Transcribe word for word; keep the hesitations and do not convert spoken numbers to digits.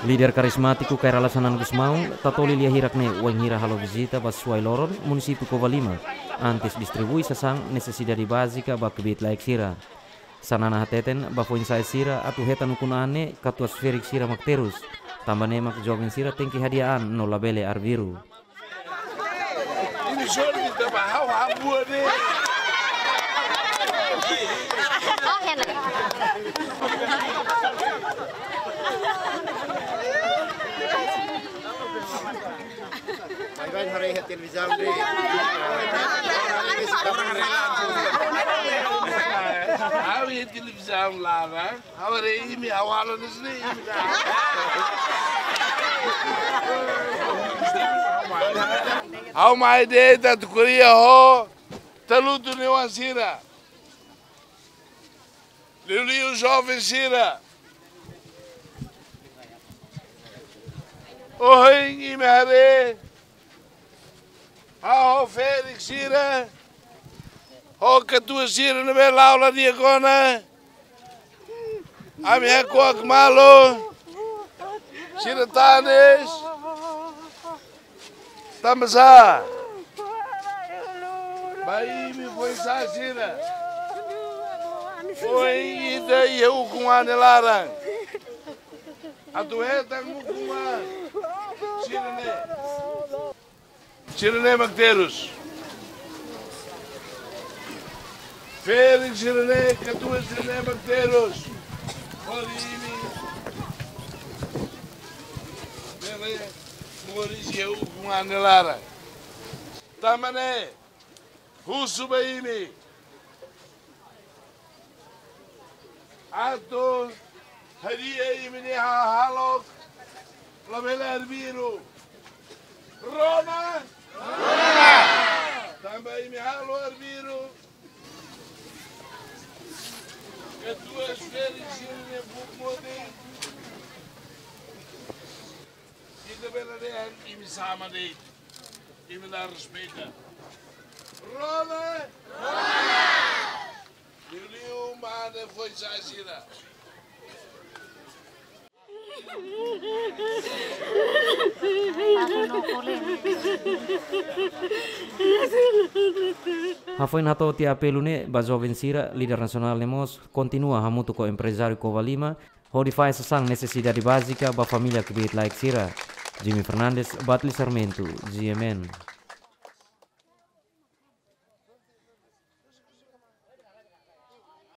Líder karizmátiku Kay Rala Xanana Gusmão tatoli lia hirak ne'e wainhira halo vizita ba Suai Loron, munisípiu Covalima, antes distribui sasán nesesidade bázika ba kbiit-laek sira. Xanana hateten ba foin-sa'e sira atu hetan ukun-an ne'e katuas ferik sira mak terus, tanba ne'e mak joven sira tenke hadi'a an no labele arbiru. Ini sorry, kita bahau hambu ni. Bye bye, haree iha televizaun de'it. Haree iha televizaun laran. Haree imi awal ni sini imi. Ha'u mai de'it atu ko'alia ho talutu nia oan sira. Liuliu joven sira. Ohin imi haree ha'u ho ferik sira, ho katuas sira ne'ebé la'o la di'ak ona. Ami hakuak malu. Sira tanis. Tanba sá? Ba imi foin-sa'e sira, foin ita iha ukun-an nia laran. Atu hetan ukun-an sira-ne'e. Sira-ne'e mak terus. Ferik sira-ne'e, katuas sira-ne'e mak terus. Hodi imi bele moris iha ukun-an nia laran. Tanba ne'e, husu ba imi. Atu hadi'a imi-nia hahalok labele arbiru. Rona? Rona! Tanba imi halo arbiru, katuas ferik sira-nia buk moti, ita bele dehan imi sama de'it. Imi la respeita. Rona? Rona! Liuliu mane foin-sa'e sira. Hafoin hato'o tiha apelu ne'e ba joven sira, líder nasionál ne'e mós kontinua hamutuk ho emprezáriu Covalima hodi fahe sasán nesesidade bázika ba família kbiit-laek sira. Jimmy Fernandes, Batli Sarmento, G M N.